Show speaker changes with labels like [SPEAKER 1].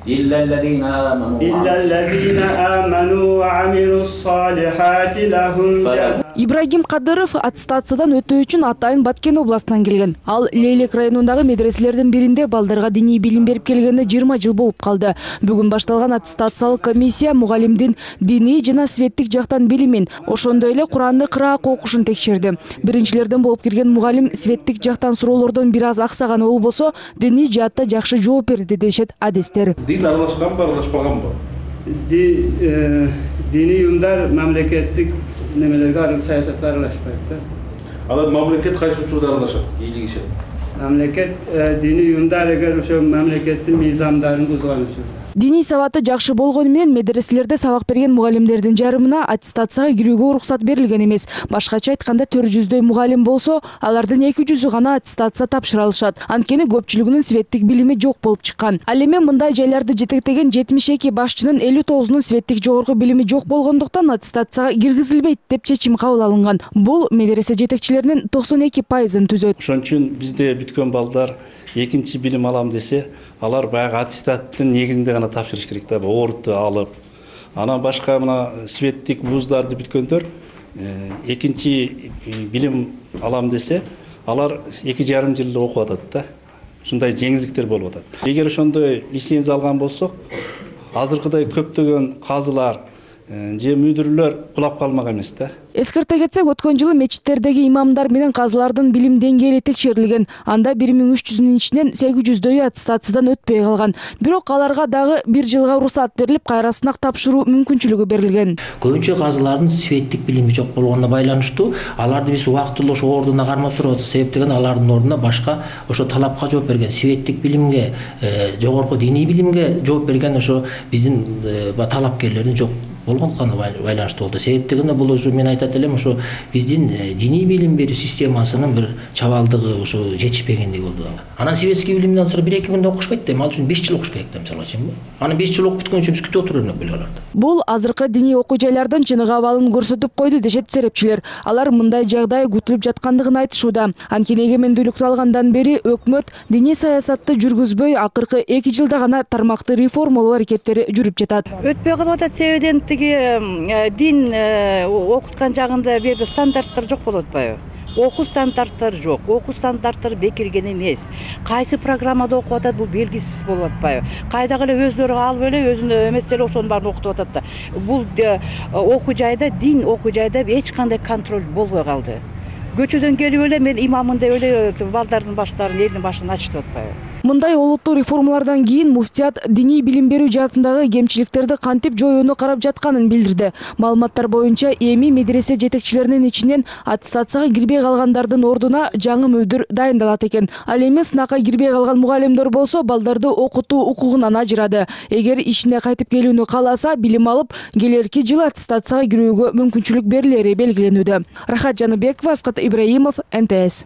[SPEAKER 1] إلا الذين آمنوا وعملوا الصالحات لهم
[SPEAKER 2] Ибрагим Кадыров аттестациядан өтүү үчүн Атайын Баткен областынан келген. Ал Лейлек районундагы медреселердин биринде балдарга диний билим берип келгенине 20 жыл болуп калды. Бүгүн башталган аттестациялык комиссия мугалимдин диний жана светтик жактан билимин, ошондой эле Куранды кыраак окушун текшерди. Биринчилерден болуп кирген мугалим светтик жактан суроолордон бир аз аксаганы болбосо, диний жаатта жакшы жооп берди дешет адистер.
[SPEAKER 3] Дин аралашканбы, аралашпаганбы?
[SPEAKER 4] Диний уюмдар мамлекеттик немелерге саясатка аралашпайт да.
[SPEAKER 3] Алар мамлекет кайсы учурда аралашат, ийгилигишет?
[SPEAKER 4] Мамлекет диний уюмдар эгер ошо мамлекеттин мыйзамдарын бузган үчүн.
[SPEAKER 2] Диний сабаты жакшы болгону менен медреселерде сабак берген мугалимдердин жарымына аттестацияга кирүүгө уруксат берилген эмес. Башкача айтканда 400дөй мугалим болсо, алардын 200-ü гана аттестация тапшыра алышат. Анткени көпчүлүгүнүн светтик билими жок болуп чыккан. Ал эми мындай жайларды жетектеген 72 башчынын 59-унун светтик жогорку билими жок болгондуктан аттестацияга киргизилбейт деп чечим кабыл алынган. Бул медресе жетекчилеринин 92%-ын түзөт.
[SPEAKER 5] Ошон үчүн бизде бүткөн балдар экинчи билим алам десе, алар баягы аттестаттын негизинде гана тапшырыш керек да, оруту алып. Анан башка мына светтик вуздарды бүткөндөр экинчи билим алам десе, алар 2,5 жыл окуп атат да. Ушундай жеңилдиктер болуп атат. Эгер ошондой лицензия алган болсок, азыркыдай көптөгөн казылар же мүдүрлөр кулап калмак эмес да.
[SPEAKER 2] Эскерте кетсек, өткөн жылы мечиттердеги имамдар менен казылардын билим деңгээли текшерилген. Анда 1300-нун ичинен 800дөйү аттестациядан өтпөй калган. Бирок аларга дагы 1 жылга уруксат берилип, кайра сынак тапшыруу мүмкүнчүлүгү берилген.
[SPEAKER 6] Көбүнчө казылардын светтик билими жок болгонуна байланыштуу, аларды биз убактылуу ошо ордуна кармап турабыз. Себеп деген алардын ордуна башка ошо талапка жооп берген, светтик билимге, жогорку диний билимге жооп берген ошо биздин талапкерлердин жок болгондуктан байланыштуу болду. Себеп дегенде бул уже мен айтат элем, ошо биздин диний билим берүү системасынын бир чабалдыгы ошо жетишпегендиги болду. Анан светский билимден sonra 1-2 күндө окушпайт да, ал үчүн 5 жыл окуш керек да, мисалга чейинби. Анан 5 жыл окуп бүткөнчө биз күтүп отуруп элек аларды.
[SPEAKER 2] Бул азыркы диний окуу жайлардын чыныгы абалын көрсөтүп койду дешет серепчилер. Алар мындай жагдай күтүлүп жаткандыгын айтышууда. Анткени эгемендүүлүктү алгандан бери өкмөт диний саясатты жүргүзбөй, акыркы 2 жылда гана тармакты реформалоо аракеттери жүрүп жатат.
[SPEAKER 7] Өтпөй калып атат себебен дин окуткан жагында бир стандарттар жок болуп атпайбы? Окуу стандарттары жок, окуу стандарттары бекирген эмес. Кайсы программада окуп атат, бул белгисиз болуп атпайбы? Кайдагы эле өздөрү алып эле өзүнө эметсе эле ошонун баарын окутуп атат да. Бул окуу жайда, дин окуу жайда эч кандай контроль болбой калды. Көчөдөн келип эле мен имаммын деп эле балдардын баштарын, элдин башын ачтып атпайбы?
[SPEAKER 2] Мындай олуттуу реформалардан кийин муфтият диний билим берүү жаатындагы кемчиликтерди кантип жоюуну карап жатканын билдирди. Маалыматтар боюнча эми медресе жетекчилеринин ичинен аттестацияга кирбей калгандардын ордуна жаңы мүдүр дайындалат экен. Ал эми сынакка кирбей калган мугалимдер болсо балдарды окутуу укугунан ажырады. Эгер ишине кайтып келүүнү кааласа, билим алып, келерки жылы аттестацияга кирүүгө мүмкүнчүлүк берилери белгиленүүдө. Рахат Жаныбекова, Аскат Ибраимов, НТС.